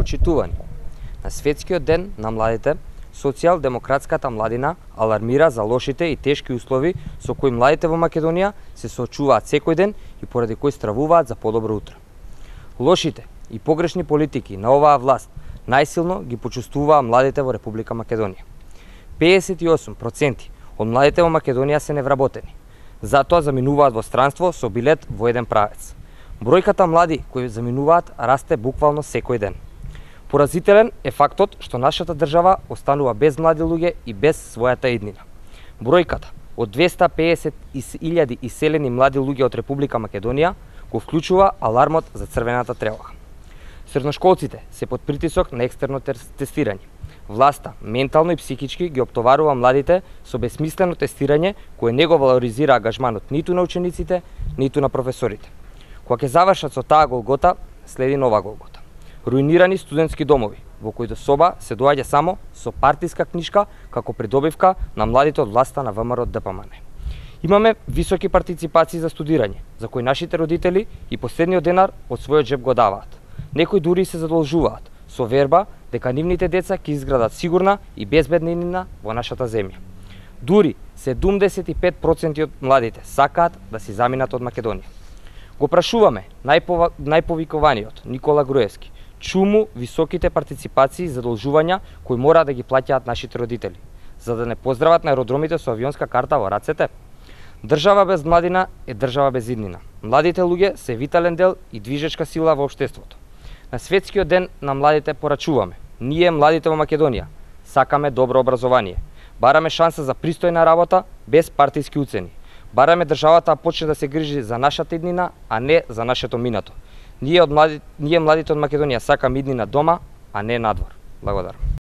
Почитувани, на Светскиот ден на младите, Социјалдемократската младина алармира за лошите и тешки услови со кои младите во Македонија се соочуваат секој ден и поради кои стравуваат за подобро утро. Лошите и погрешни политики на оваа власт најсилно ги почувствуваа младите во Република Македонија. 58% од младите во Македонија се невработени, затоа заминуваат во странство со билет во еден правец. Бројката млади кои заминуваат расте буквално секој ден. Поразителен е фактот што нашата држава останува без млади луѓе и без својата иднина. Бројката од 250.000 иселени млади луѓе од Република Македонија го вклучува алармот за црвената тревога. Средношколците се под притисок на екстерно тестирање. Власта ментално и психички ги оптоварува младите со бесмислено тестирање кое не го валоризира ангажманот ниту на учениците, ниту на професорите. Кога ќе завршат со таа голгота, следи нова голгота. Руинирани студентски домови, во кои до соба се доаѓа само со партиска книшка како придобивка на младите од власта на ВМРО ДПМН. Имаме високи партиципации за студирање, за кои нашите родители и последниот денар од својот джеб го даваат. Некои дури се задолжуваат со верба дека нивните деца ќе изградат сигурна и безбедна иднина во нашата земја. Дури 75% од младите сакаат да си заминат од Македонија. Го прашуваме најповикуваниот Никола Груевски, чуму високите партиципации и задолжувања кои мора да ги плаќаат нашите родители, за да не поздрават на аеродромите со авионска карта во рацете? Држава без младина е држава без иднина. Младите луѓе се витален дел и движечка сила во општеството. На Светскиот ден на младите порачуваме: ние, младите во Македонија, сакаме добро образование, бараме шанса за пристојна работа без партиски уцени. Бараме државата да почне да се грижи за нашата иднина, а не за нашето минато. Ние младите од Македонија сакаме иднина дома, а не надвор. Благодарам.